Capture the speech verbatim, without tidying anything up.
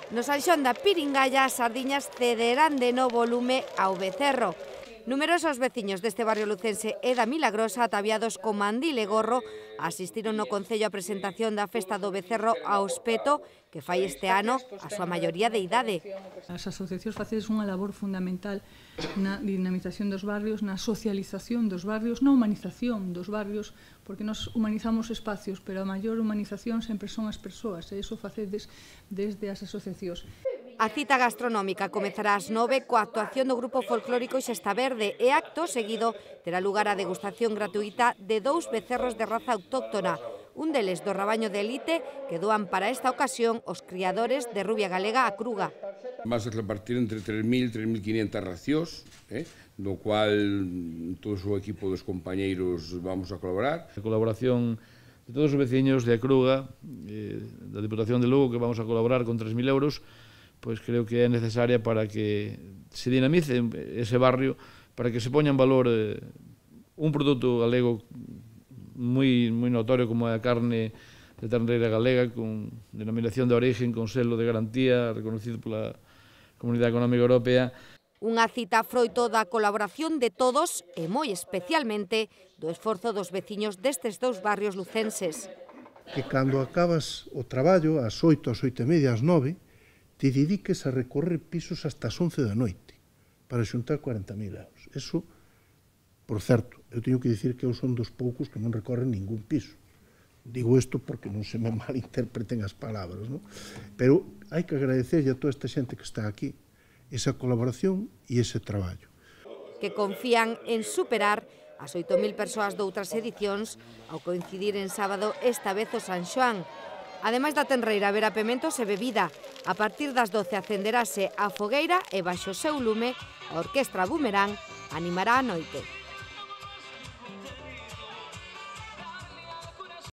No San Xoán da Piringalla as sardiñas cederán de novo lume ao becerro. Numerosos veciños deste barrio lucense e da Milagrosa, ataviados con mandil e gorro, asistiron no Concello á presentación da Festa do Becerro ao Espeto, que fai este ano a súa maioría de idade. As asociacións facedes unha labor fundamental na dinamización dos barrios, na socialización dos barrios, na humanización dos barrios, porque nos humanizamos espacios, pero a maior humanización sempre son as persoas, e iso facedes desde as asociacións. A cita gastronómica comezará ás nove coa actuación do grupo folclórico Xesta Verde e acto seguido terá lugar a degustación gratuita de dous becerros de raza autóctona, un deles do rabaño de elite que doan para esta ocasión os criadores de rubia galega a Cruga. Vas a repartir entre tres mil e tres mil quinientas racións, eh, no cual todo o equipo dos compañeiros vamos a colaborar. A colaboración de todos os veciños de a Cruga, eh, da Diputación de Lugo, que vamos a colaborar con tres mil euros, pois creo que é necesaria para que se dinamice ese barrio, para que se poña en valor eh, un produto galego moi, moi notorio como é a carne de terneira galega, con denominación de origen, con selo de garantía, reconocido pola Comunidade Económica Europea. Unha cita froito da colaboración de todos e moi especialmente do esforzo dos veciños destes dous barrios lucenses. Que cando acabas o traballo, ás oito, ás oito e media, ás nove, te dediques a recorrer pisos hasta as once da noite para xuntar cuarenta mil euros. Eso, por certo, eu teño que dicir que eu son dos poucos que non recorren ningún piso. Digo isto porque non se me malinterpreten as palabras, non? Pero hai que agradecerlle a toda esta xente que está aquí esa colaboración e ese traballo. Que confían en superar as oito mil persoas doutras edicións ao coincidir en sábado esta vez o San Xoán. Ademais da tenreira, haberá pementos e bebida. A partir das doce acenderase a fogueira e baixo o seu lume a Orquestra Boomerang animará a noite.